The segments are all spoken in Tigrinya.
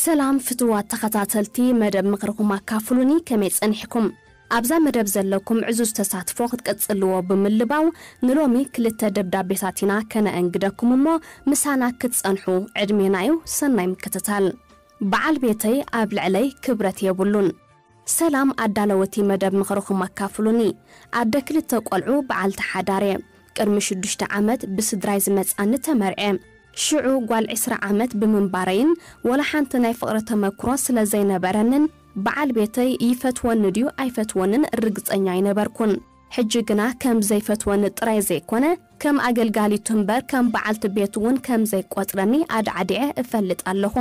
ሰላም ፍትዋት ተኸታተልቲ መደብ ምኽርኹም ኣካፍሉኒ፣ ከመይ ጸኒሕኩም? ኣብዛ መደብ ዘለኩም ዕዙዝ ተሳትፎ ክትቀጽልዎ ብምልባው፣ ንሎሚ ክልተ ደብዳቤታት ኢና ከነእንግደኩም እሞ፣ ምሳና ክትጸንሑ ዕድሜና እዩ። ሰናይ ምክትታል። በዓል ቤተይ ኣብ ልዕለይ ክብረት የብሉን። ሰላም ኣዳለወቲ መደብ ምኽርኹም ኣካፍሉኒ። ኣደ ክልተ ቆልዑ በዓልቲ ሓዳር እየ። ቅድሚ ሽዱሽተ ዓመት ብስድራይ ዝመጻኒ ተመርዐ። ሽዑ ጓል ዕስራ ዓመት ብምንባረይን ወላ ሓንቲ ናይ ፍቕሪ ተመክሮ ስለ ዘይነበረንን በዓል ቤተይ ይፈትወኒ ድዩ ኣይፈትወንን ርግጸኛ ኣይነበርኩን። ሕጂ ግና ከም ዘይፈትወኒ ጥራይ ዘይኮነ ከም ኣገልጋሊቱ እምበር ከም በዓልቲ ቤቱ እውን ከም ዘይቆጽረኒ ኣድዓዲዐ እፈልጥ ኣለኹ።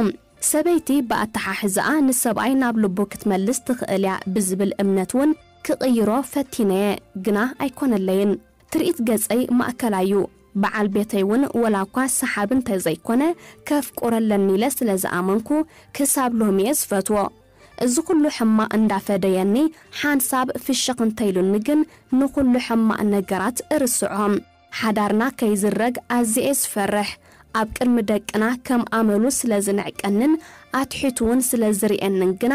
ሰበይቲ ብኣተሓሕዛኣ ንሰብኣይ ናብ ልቡ ክትመልስ ትኽእል እያ ብዝብል እምነት እውን ክቕይሮ ፈቲነየ፣ ግና ኣይኮነለይን። ትርኢት ገጸይ ማእከላይ እዩ። በዓል ቤተይ እውን ወላ እኳ ሰሓቢ እንተዘይኮነ ከፍቁሮ ኣለኒ ኢለ ስለ ዝኣመንኩ ክሳብ ሎሚ እየ ዝፈትዎ። እዚ ኩሉ ሕማቕ እንዳፈደየኒ ሓንሳብ ፍሽኽ እንተኢሉኒ ግን ንኹሉ ሕማቕ ነገራት እርስዖ። ሓዳርና ከይዝረግ ኣዝየ እየ ዝፈርሕ። ኣብ ቅድሚ ደቅና ከም ኣመሉ ስለ ዝንዕቀንን ኣትሒቱ እውን ስለ ዝርእየንን ግና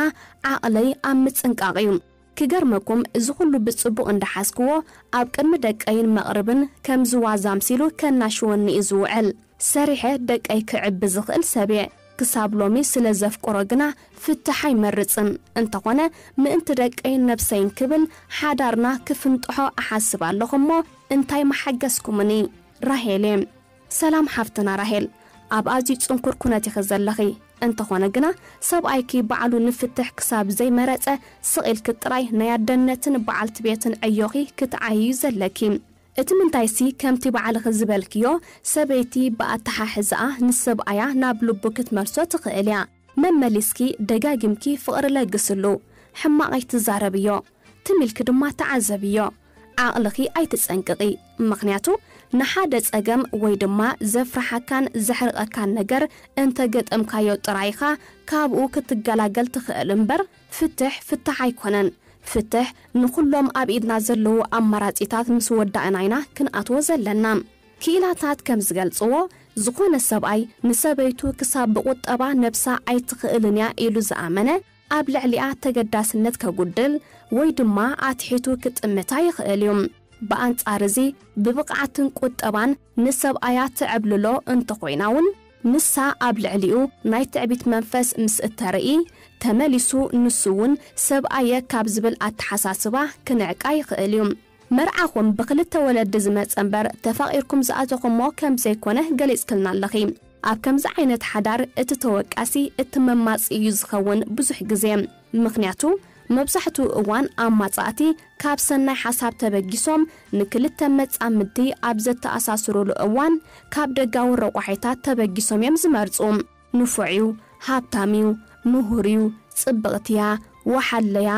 ዓቕለይ ኣብ ምጽንቃቕ እዩ። ክገርመኩም እዚ ኩሉ ብጽቡቕ እንዳሓዝክዎ ኣብ ቅድሚ ደቀይን መቕርብን ከምዚ ዋዛ ኣምሲሉ ከናሽወኒ እዩ ዝውዕል። ሰሪሐ ደቀይ ክዕቢ ዝኽእል ሰብ እየ። ክሳብ ሎሚ ስለ ዘፍቅሮ ግና ፍትሕ ኣይመርጽን። እንተኾነ ምእንቲ ደቀይን ነብሰይን ክብል ሓዳርና ክፍንጥሖ እሓስብ ኣለኹ እሞ እንታይ መሓገዝኩምኒ? ራሄል እየ። ሰላም ሓፍትና ራሄል፣ ኣብ ኣዝዩ ጽንኩር ኩነት ኢኺ ዘለኺ። እንተኾነ ግና ሰብኣይኪ ባዕሉ ንፍትሕ ክሳብ ዘይመረጸ ስቕ ኢልኪ ጥራይ ናይ ኣደነትን በዓልቲ ቤትን ዕዮኺ ክትዓይዩ ዘለኪ። እቲ ምንታይሲ ከምቲ ባዕልኺ ዝበልክዮ ሰበይቲ ብኣተሓሕዛኣ ንሰብኣያ ናብ ልቡ ክትመልሶ ትኽእል እያ። መመሊስኪ ደጋጊምኪ ፍቕሪ ለግስሉ። ሕማቕ ኣይትዛረብዮ። ትም ኢልኪ ድማ ተዓዘብዮ። ዓቕልኺ ኣይትጸንቅቒ። ምኽንያቱ ንሓደ ጸገም ወይ ድማ ዘፍርሓካን ዘሕርቐካን ነገር እንተ ገጠምካዮ ጥራይ ኢኻ ካብኡ ክትገላገል ትኽእል እምበር ፍትሕ ፍታሕ ኣይኮነን። ፍትሕ ንኹሎም ኣብ ኢድና ዘለዉ ኣማራጺታት ምስ ወዳእና ኢና ክንኣትዎ ዘለና። ክኢላታት ከም ዝገልጽዎ፣ ዝኾነ ሰብኣይ ንሰበይቱ ክሳብ ብቑጠባ ነብሳ ኣይትኽእልን እያ ኢሉ ዝኣመነ፣ ኣብ ልዕሊኣ ተገዳስነት ከጉድል ወይ ድማ ኣትሒቱ ክጥምታ ይኽእል እዩ። ብኣንጻር እዚ፣ ብብቕዓትን ቁጠባን ንሰብኣያ ትዕብልሎ እንተኾይና እውን፣ ንሳ ኣብ ልዕሊኡ ናይ ትዕቢት መንፈስ ምስ እተርኢ፣ ተመሊሱ ንሱ እውን ሰብኣየ ካብ ዝብል ኣተሓሳስባ ክንዕቃ ይኽእል እዩ። መርዓኹም ብኽልተ ወለዲ ዝመጸ እምበር ተፋቒርኩም ዝኣተኹሞ ከም ዘይኮነ ገሊጽክልና ኣለኺ። ኣብ ከምዚ ዓይነት ሓዳር እቲ ተወቃሲ እቲ መማጽኢ እዩ ዝኸውን ብዙሕ ግዜ። ምኽንያቱ መብዛሕትኡ እዋን ኣማጻእቲ ካብ ሰናይ ሓሳብ ተበጊሶም ንክልተ መጻምድቲ ኣብ ዘተኣሳስሩሉ እዋን ካብ ደጋዊ ረቋሒታት ተበጊሶም እዮም ዝመርጹ። ንፉዕ እዩ፣ ሃብታም እዩ፣ ምሁር እዩ፣ ጽብቕቲ እያ፣ ወሓለያ፣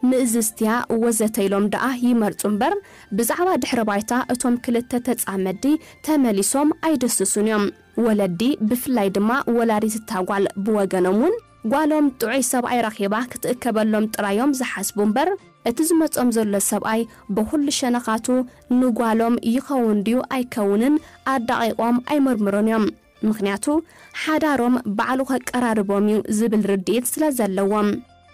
ምእዝዝቲ እያ ወዘተ ኢሎም ደኣ ይመርጹ እምበር ብዛዕባ ድሕረ ባይታ እቶም ክልተ ተጻመድቲ ተመሊሶም ኣይድህስሱን እዮም። ወለዲ ብፍላይ ድማ ወላዲት እታ ጓል ብወገኖም እውን ጓሎም ጥዑይ ሰብኣይ ረኺባ ክትእከበሎም ጥራይ እዮም ዝሓስቡ እምበር እቲ ዝመጾም ዘሎ ሰብኣይ ብኹሉ ሸነኻቱ ንጓሎም ይኸውን ድዩ ኣይከውንን ኣዳቒቖም ኣይምርምሩን እዮም። ምኽንያቱ ሓዳሮም ባዕሉ ከቀራርቦም እዩ ዝብል ርድኢት ስለ ዘለዎም።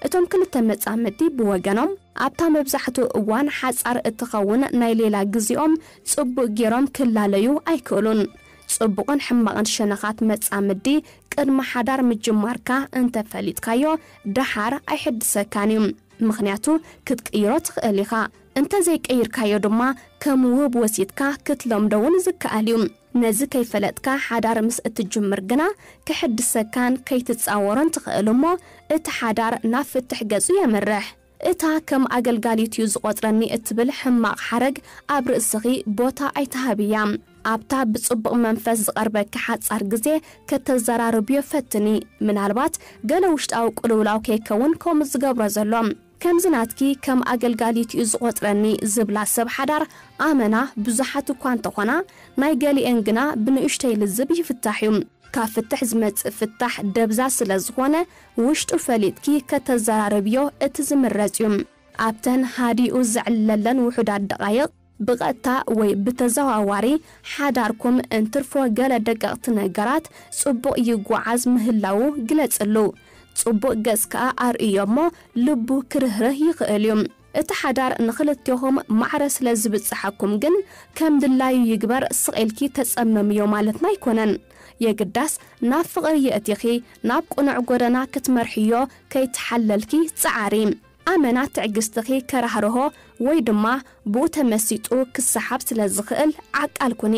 እቶም ክልተ መጻምድቲ ብወገኖም ኣብታ መብዛሕትኡ እዋን ሓጻር እትኸውን ናይ ሌላ ግዜኦም ጽቡቕ ገይሮም ክላለዩ ኣይክእሉን። ጽቡቕን ሕማቕን ሸነኻት መጻምዲ ቅድሚ ሓዳር ምጅማርካ እንተፈሊጥካዮ ደሓር ኣይሕድሰካን እዩ። ምኽንያቱ ክትቅይሮ ትኽእል ኢኻ። እንተዘይቀይርካዮ ድማ ከም ውህብ ወሲድካ ክትለምዶ እውን ዝከኣል እዩ። ነዚ ከይፈለጥካ ሓዳር ምስ እትጅምር ግና ክሕድሰካን ከይትጻወሮን ትኽእል እሞ እቲ ሓዳር ናብ ፍትሕ ገጹ የምርሕ። እታ ከም ኣገልጋሊት እዩ ዝቖጽረኒ እትብል ሕማቕ ሓረግ ኣብ ርእስኺ ቦታ ኣይትሃብያ። ኣብታ ብጽቡቕ መንፈስ ዝቐርበኪ ሓጻር ግዜ ከተዘራርብዮ ፈትኒ። ምናልባት ገለ ውሽጣዊ ቅልውላው ከይከውን ከምኡ ዝገብሮ ዘሎ። ከምዚ ናትኪ ከም ኣገልጋሊት እዩ ዝቖጽረኒ ዝብላ ሰብ ሓዳር ኣመና ብዙሓት እኳ እንተኾና፣ ናይ ገሊኤን ግና ብንእሽተይ ልዝብ ይፍታሕ እዩ። ካብ ፍትሕ ዝመጽእ ፍታሕ ደብዛ ስለ ዝኾነ፣ ውሽጡ ፈሊጥኪ ከተዘራርብዮ እቲ ዝምረጽ እዩ። ኣብተን ሃዲኡ ዘዕልለለን ውሑዳት ደቓይቕ፣ ብቐጥታ ወይ ብተዘዋዋሪ ሓዳርኩም እንትርፎ ገለ ደቀቕቲ ነገራት ጽቡቕ ይጓዓዝ ምህላዉ ግለጽሉ። ጽቡቕ ገጽ ከኣ ኣርእዮ እሞ ልቡ ክርህርህ ይኽእል እዩ። እቲ ሓዳር ንኽልቴኹም ማዕረ ስለ ዝብጽሓኩም ግን ከም ድላዩ ይግበር፣ ስቕ ኢልኪ ተጸመምዮ ማለትና ኣይኮነን። የግዳስ ናብ ፍቕሪ የእቲኺ ናብ ቅኑዕ ጎደና ክትመርሕዮ ከይትሓለልኪ ጸዓሪ። ኣመና ትዕግስትኺ ከራህርሆ ወይ ድማ ብኡ ተመሲጡ ክሰሓብ ስለ ዝኽእል ዓቃል ኩኒ።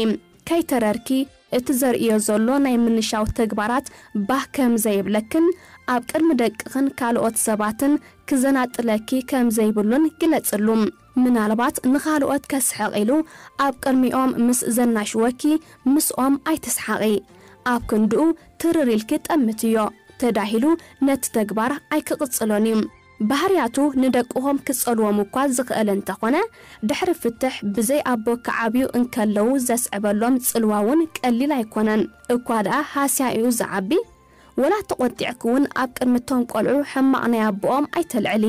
ከይተረርኪ እቲ ዘርእዮ ዘሎ ናይ ምንሻው ተግባራት ባህ ከም ዘይብለክን ኣብ ቅድሚ ደቅኽን ካልኦት ሰባትን ክዘናጥለኪ ከም ዘይብሉን ግለጽሉ። ምናልባት ንኻልኦት ከስሕቕ ኢሉ ኣብ ቅድሚኦም ምስ ዘናሽወኪ ምስኦም ኣይትስሓቒ። ኣብ ክንድኡ ትርር ኢልኪ ጠምትዮ። ተዳሂሉ ነቲ ተግባር ኣይክቕጽሎን እዩ። ባህርያቱ ንደቅኹም ክጸልዎም እኳ ዝኽእል እንተኾነ፣ ድሕሪ ፍትሕ ብዘይ ኣቦ ክዓብዩ እንከለዉ ዘስዕበሎም ጽልዋ እውን ቀሊል ኣይኮነን። እኳ ደኣ ሃስያ እዩ ዝዓቢ። ወላ ተቖጢዕኪ እውን ኣብ ቅድሚ እቶም ቆልዑ ሕማቕ ናይ ኣቦኦም ኣይተልዕሊ።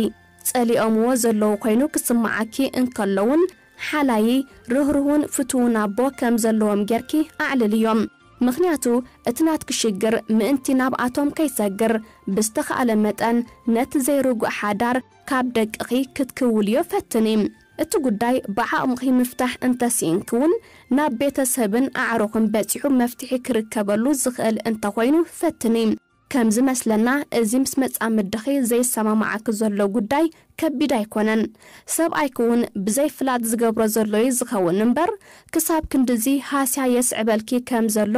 ጸሊኦምዎ ዘለዉ ኮይኑ ክስምዓኪ እንከሎውን ሓላዪ፣ ርህሩህን ፍቱውን ኣቦ ከም ዘለዎም ጌርኪ ኣዕልልዮም። ምኽንያቱ እቲ ናትኪ ሽግር ምእንቲ ናብኣቶም ከይሰግር ብዝተኻእለ መጠን ነቲ ዘይርጉእ ሓዳር ካብ ደቅኺ ክትክውልዮ ፈትኒ። እቲ ጉዳይ ብዓቕምኺ ምፍታሕ እንተስኢንኪ እውን ናብ ቤተሰብን ኣዕሩኽን በጺሑ መፍትሒ ክርከበሉ ዝኽእል እንተኾይኑ ፈትኒ። ከም ዝመስለና እዚ ምስ መጻምድኺ ዘይሰማማዓኪ ዘሎ ጉዳይ ከቢድ ኣይኮነን። ሰብኣይኪ እውን ብዘይ ፍላጥ ዝገብሮ ዘሎ እዩ ዝኸውን እምበር ክሳብ ክንድዚ ሃስያ የስዕበልኪ ከም ዘሎ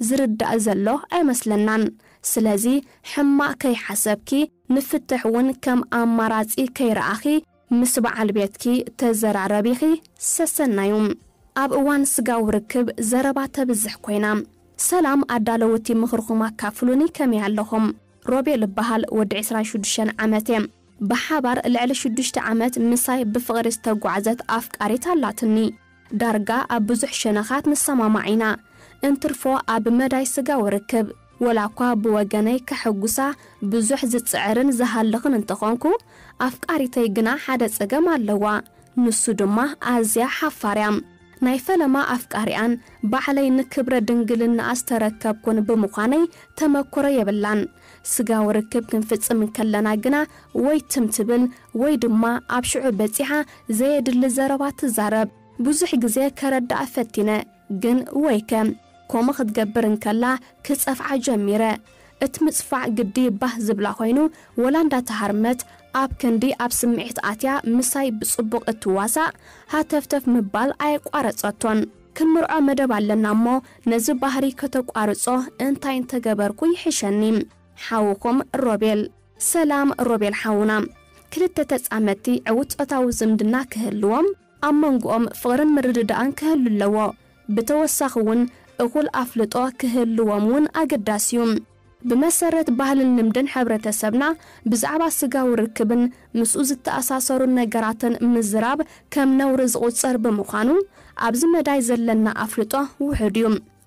ዝርዳእ ዘሎ ኣይመስለናን። ስለዚ ሕማቕ ከይሓሰብኪ ንፍትሕ እውን ከም ኣማራጺ ከይረኣኺ ምስ በዓል ቤትኪ ተዘራረቢኺ ሰሰናዩ። ኣብ እዋን ስጋዊ ርክብ ዘረባ ተብዝሕ ኮይና። ሰላም ኣዳለውቲ ምኽርኹም ኣካፍሉኒ ከመይ ኣለኹም? ሮቤል እበሃል ወዲ ዕስራን ሽዱሽተን ዓመት እየ። ብሓባር ልዕሊ ሽዱሽተ ዓመት ምሳይ ብፍቕሪ ዝተጓዕዘት ኣፍቃሪት ኣላትኒ። ዳርጋ ኣብ ብዙሕ ሸነኻት ንሰማማዕ ኢና። እንትርፎ ኣብ መዳይ ስጋዊ ርክብ ወላ እኳ ብወገነይ ከሐጉሳ ብዙሕ ዝጽዕርን ዝሃልኽን እንተኾንኩ ኣፍቃሪተይ ግና ሓደ ጸገም ኣለዋ። ንሱ ድማ ኣዝያ ሓፋር እያ። ናይ ፈለማ ኣፍቃሪኣን ባዕለይ ንክብረ ድንግልናኣ ዝተረከብኩን ብምዃነይ ተመክሮ የብላን። ስጋዊ ርክብ ክንፍጽም እንከለና ግና ወይ ትም ትብል ወይ ድማ ኣብ ሽዑ በጺሓ ዘየድሊ ዘረባ ትዛረብ። ብዙሕ ግዜ ከረድኣ ፈቲነ፣ ግን ወይከ ኮሞ ክትገብር እንከላ ክጸፍዓ ጀሚረ። እቲ ምጽፋዕ ግዲ ባህ ዝብላ ኮይኑ ወላ እንዳተሃርመት ኣብ ክንዲ ኣብ ስምዒት ኣትያ ምሳይ ብጽቡቕ እትዋሳእ ሃተፍተፍ ምባል ኣየቋረጸቶን። ክንምርዖ መደብ ኣለና እሞ ነዚ ባህሪ ከተቋርጾ እንታይ እንተገበርኩ ይሕሸኒ? ሓውኹም ሮቤል። ሰላም ሮቤል ሓውና። ክልተ ተጻመድቲ ዕዉት ጾታዊ ዝምድና ክህልዎም ኣብ መንጎኦም ፍቕርን ምርድዳእን ክህሉ ኣለዎ። ብተወሳኺ እውን እኹል ኣፍልጦ ክህልዎም እውን ኣገዳሲ እዩ። ብመሰረት ባህልን ልምድን ሕብረተሰብና ብዛዕባ ስጋዊ ርክብን ምስኡ ዝተኣሳሰሩ ነገራትን ምዝራብ ከም ነውሪ ዝቑጸር ብምዃኑ ኣብዚ መዳይ ዘለና ኣፍልጦ ውሑድ እዩ።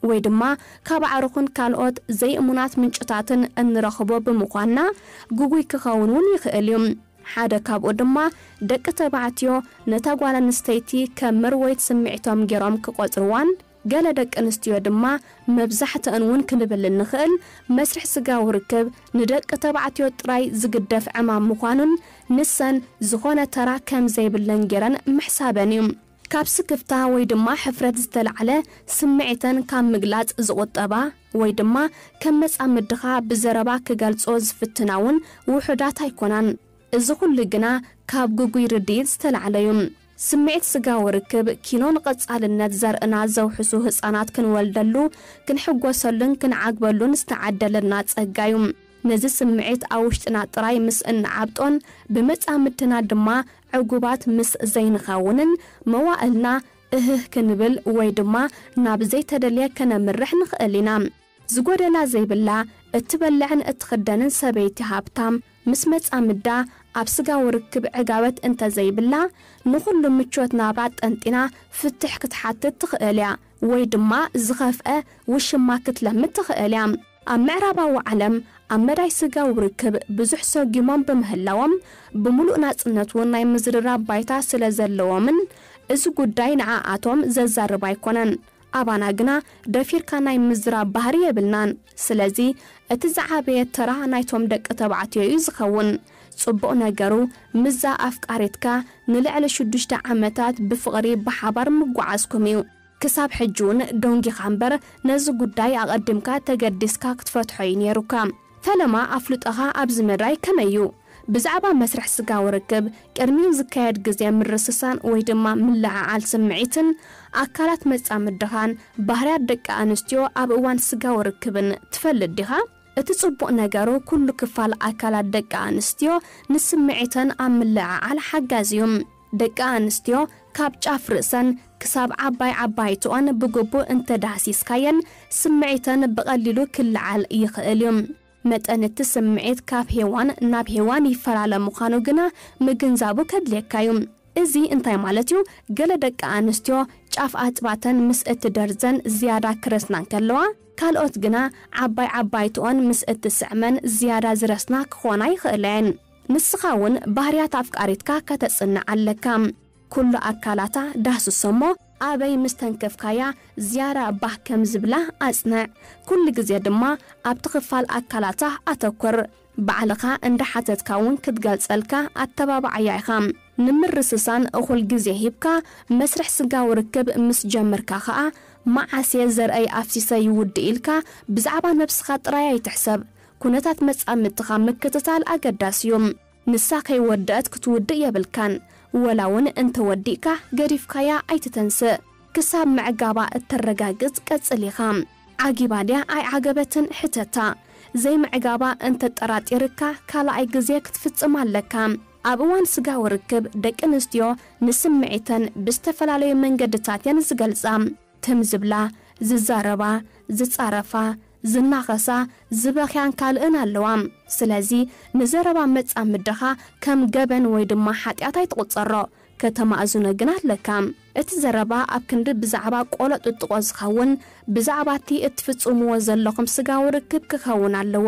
ወይ ድማ ካብ ኣዕሩኽን ካልኦት ዘይእሙናት ምንጭታትን እንረኽቦ ብምዃንና ግጉይ ክኸውን እውን ይኽእል እዩ። ሓደ ካብኡ ድማ ደቂ ተባዕትዮ ነታ ጓል ኣንስተይቲ ከም መርወይት ስምዒቶም ገይሮም ክቖጽርዋን ገለ ደቂ ኣንስትዮ ድማ መብዛሕትአን እውን ክንብል እንኽእል መስርሕ ስጋዊ ርክብ ንደቂ ተባዕትዮ ጥራይ ዝግደፍ ዕማም ምዃኑን ንሰን ዝኾነ ተራ ከም ዘይብለን ገይረን ምሕሳበን እዩ። ካብ ስክፍታ ወይ ድማ ሕፍረት ዝተላዕለ ስምዒተን ካብ ምግላጽ ዝቑጠባ ወይ ድማ ከም መጻምድኻ ብዘረባ ክገልጾ ዝፍትና እውን ውሑዳት ኣይኮናን። እዚ ኩሉ ግና ካብ ግጉይ ርድኢት ዝተላዕለ እዩ። ስምዒት ስጋዊ ርክብ ኪኖ ንቐጻልነት ዘርእና ዘውሕሱ ህጻናት ክንወልደሉ፣ ክንሕጎሰሉን ክንዓግበሉን ዝተዓደለና ጸጋ እዩ። ነዚ ስምዒት ኣብ ውሽጥና ጥራይ ምስ እንዓብጦን ብመጻምድትና ድማ ዕጉባት ምስ ዘይንኸውንን መዋእልና እህህ ክንብል ወይ ድማ ናብ ዘይተደልየ ከነምርሕ ንኽእል ኢና። ዝጎደላ ዘይብላ፣ እትበልዕን እትኽደንን ሰበይቲ ሃብታም ምስ መጻምዳ ኣብ ስጋዊ ርክብ ዕጋበት እንተዘይብላ ንኹሉ ምቾት ናብራ ጠንጢና ፍትሕ ክትሓትት ትኽእል እያ ወይ ድማ ዝኸፍአ ውሽማ ክትለምድ ትኽእል እያ። ኣብ ምዕራባዊ ዓለም ኣብ መዳይ ስጋዊ ርክብ ብዙሕ ሰጒሞም ብምህላዎም ብምሉእ ናጽነት እውን ናይ ምዝርራብ ባይታ ስለ ዘለዎምን እዚ ጉዳይ ንዓኣቶም ዘዛርብ ኣይኮነን። ኣባና ግና ደፊርካ ናይ ምዝራብ ባህሪ የብልናን። ስለዚ እቲ ዝዓበየ ተራ ናይቶም ደቂ ተባዕትዮ እዩ ዝኸውን። ጽቡቕ ነገሩ፣ ምስዛ ኣፍቃሪትካ ንልዕሊ ሽዱሽተ ዓመታት ብፍቕሪ ብሓባር ምጓዓዝኩም እዩ። ክሳብ ሕጂ እውን ደንጊኻ እምበር፣ ነዚ ጉዳይ ኣቐዲምካ ተገዲስካ ክትፈትሖ እዩ ነይሩካ። ፈለማ፣ ኣፍልጦኻ ኣብዚ መዳይ ከመይ እዩ? ብዛዕባ መስርሕ ስጋዊ ርክብ ቅድሚኡ ዝካየድ ግዜ ምርስሳን ወይ ድማ ምልዕዓል ስምዒትን ኣካላት መጻምድኻን ባህርያት ደቂ ኣንስትዮ ኣብ እዋን ስጋዊ ርክብን ትፈልጥ ዲኻ? እቲ ጽቡቕ ነገሩ፣ ኩሉ ክፋል ኣካላት ደቂ ኣንስትዮ ንስምዒተን ኣብ ምልዕዓል ሓጋዚ እዩ። ደቂ ኣንስትዮ ካብ ጫፍ ርእሰን ክሳብ ዓባይ ዓባይትኦን ብግቡእ እንተዳህሲስካየን፣ ስምዒተን ብቐሊሉ ክለዓል ይኽእል እዩ። መጠን እቲ ስምዒት ካብ ሄዋን ናብ ሄዋን ይፈላለ ምዃኑ ግና ምግንዛቡ ከድልየካ እዩ። እዚ እንታይ ማለት እዩ? ገለ ደቂ ኣንስትዮ ጫፍ ኣጽባተን ምስ እትደርዘን ዝያዳ ክረስና እንከለዋ፣ ካልኦት ግና ዓባይ ዓባይትኦን ምስ እትስዕመን ዝያዳ ዝረስና ክኾና ይኽእላ እየን። ንስኻ እውን ባህርያት ኣፍቃሪትካ ከተጽንዕ ኣለካ። ኩሉ ኣካላታ ዳህስሶ እሞ፣ ኣበይ ምስ ተንከፍካያ ዝያዳ ባህ ከም ዝብላ ኣጽንዕ። ኩሉ ግዜ ድማ ኣብቲ ክፋል ኣካላታ ኣተኩር። ባዕልኻ እንዳሓተትካ እውን ክትገልጸልካ ኣተባብዓያ ኢኻ። ንምርስሳን እኹል ግዜ ሂብካ መስርሕ ስጋዊ ርክብ ምስ ጀመርካ ኸኣ፣ መዓስ እየ ዘርእይ ኣፍሲሰ ይውድእ ኢልካ ብዛዕባ ነብስኻ ጥራይ ኣይትሕሰብ። ኩነታት መጻምድትኻ ምክትታል ኣገዳሲ እዩ። ንሳ ከይወደአት ክትውድእ የብልካን። ወላ እውን እንተወዲእካ፣ ገዲፍካያ ኣይትተንስእ። ክሳብ ምዕጋባ እተረጋግጽ ቀጽል ኢኻ። ዓጊባ ድያ ኣይዓገበትን? ሕተታ። ዘይምዕጋባ እንተጠራጢርካ፣ ካልኣይ ግዜ ክትፍጽም ኣለካ። ኣብ እዋን ስጋዊ ርክብ፣ ደቂ ኣንስትዮ ንስምዒተን ብዝተፈላለዩ መንገድታት እየን ዝገልጻ። ትም ዝብላ፣ ዝዛረባ፣ ዝጻረፋ፣ ዝናኸሳ፣ ዝበኽያን ካልእን ኣለዋ። ስለዚ፣ ንዘረባ መጻምድኻ ከም ገበን ወይ ድማ ሓጢኣት ኣይትቑጸሮ። ከተማእዝኖ ግን ኣለካ። እቲ ዘረባ ኣብ ክንዲ ብዛዕባ ቆሎ ጥጥቖ ዝኸውን፣ ብዛዕባ እቲ እትፍጽምዎ ዘለኹም ስጋዊ ርክብ ክኸውን ኣለዎ።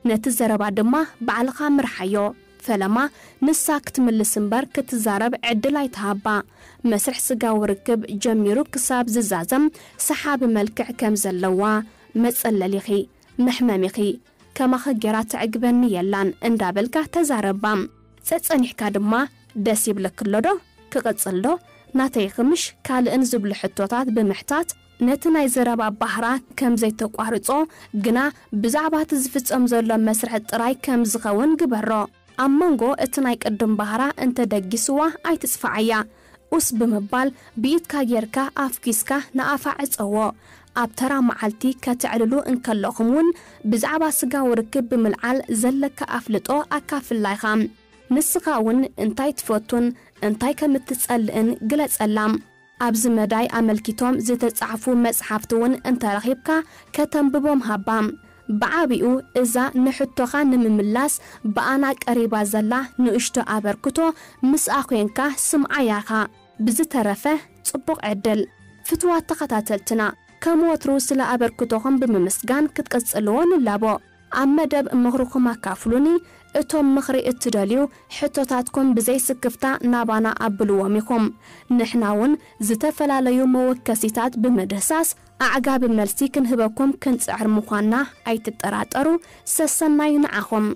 ነቲ ዘረባ ድማ ባዕልኻ ምርሓዮ። ፈለማ፣ ንሳ ክትምልስ እምበር ክትዛረብ ዕድል ኣይትሃባ። መስርሕ ስጋዊ ርክብ ጀሚሩ ክሳብ ዝዛዘም ሰሓቢ መልክዕ ከም ዘለዋ፣ መጸለሊኺ፣ መሕመሚኺ፣ ከማኺ ጌራ ተዕግበኒ የላን እንዳበልካ ተዛረባ። ጸጸኒሕካ ድማ፣ ደስ ይብለኪ ኣሎ ዶ? ክቕጽል ዶ? ናተይ ክምሽ ካልእን ዝብሉ ሕቶታት ብምሕታት፣ ነቲ ናይ ዘረባ ባህራ ከም ዘይተቋርጾ፣ ግና ብዛዕባ እቲ ዝፍጸም ዘሎ መስርሕ ጥራይ ከም ዝኸውን ግበሮ። ኣብ መንጎ እቲ ናይ ቅድም ባህራ እንተ ደጊስዋ ኣይትጽፍዓያ። ኡስ ብምባል ብኢድካ ጌርካ ኣፍኲስካ ንኣፋ ዕጸዎ። ኣብ ተራ መዓልቲ ከተዕልሉ እንከለኹም እውን ብዛዕባ ስጋዊ ርክብ ብምልዓል ዘለካ ኣፍልጦ ኣካፍላ ኢኻ። ንስኻ እውን እንታይ ትፈቱን እንታይ ከም እትጸልእን ግለጸላ። ኣብዚ መዳይ ኣመልኪቶም ዝተጻሕፉ መጽሓፍቲ እውን እንተረኺብካ ከተንብቦም ሃባ። ብዓቢኡ እዛ ንሕቶኻ ንምምላስ ብኣና ቀሪባ ዘላ ንእሽቶ ኣበርክቶ ምስኣ ኮይንካ ስምዓያ ኢኻ። ብዝተረፈ ጽቡቕ ዕድል። ፍትዋት ተኸታተልትና፣ ከም ወትሩ ስለ ኣበርክቶኹም ብምምስጋን ክትቅጽልዎ ንላቦ። ኣብ መደብ ምኽርኹም ኣካፍሉኒ። እቶም ምኽሪ እትደልዩ ሕቶታትኩም ብዘይ ስክፍታ ናባና ኣብልዎም ኢኹም። ንሕና እውን ዝተፈላለዩ መወከሲታት ብምድህሳስ ኣዕጋቢ መልሲ ክንህበኩም ክንጽዕር ምዃንና ኣይትጠራጠሩ። ሰሰናዩ ንዓኹም።